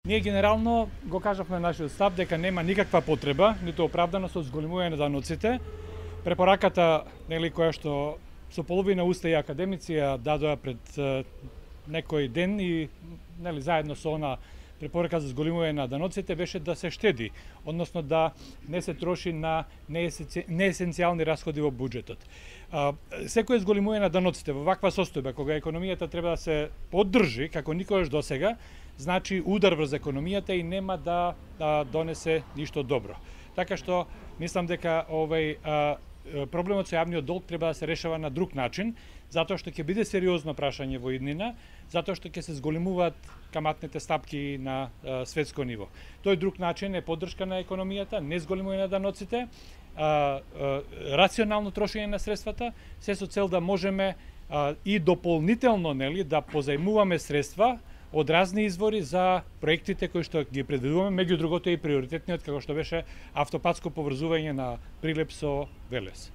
Ние генерално го кажавме нашиот став дека нема никаква потреба, ниту оправданост од зголемување на даноците. Препораката, која што со половина уста и академици ја дадоа пред некој ден и заедно со она препорака за зголемување на даноците беше да се штеди, односно да не се троши на неесенцијални расходи во буџетот. Секој зголемување на даноците во ваква состојба, кога економијата треба да се поддржи како никогаш досега, значи удар врз економијата и нема да донесе ништо добро. Така што мислам дека проблемот со јавниот долг треба да се решава на друг начин, затоа што ќе биде сериозно прашање во иднина, затоа што ќе се зголемуваат каматните стапки на светско ниво. Тој друг начин е поддршка на економијата, не зголемување на даноците, рационално трошење на средствата, се со цел да можеме и дополнително да позајмуваме средства од разни извори за проектите кои што ги предвидуваме, меѓу другото и приоритетниот како што беше автопатско поврзување на Прилеп со Велес.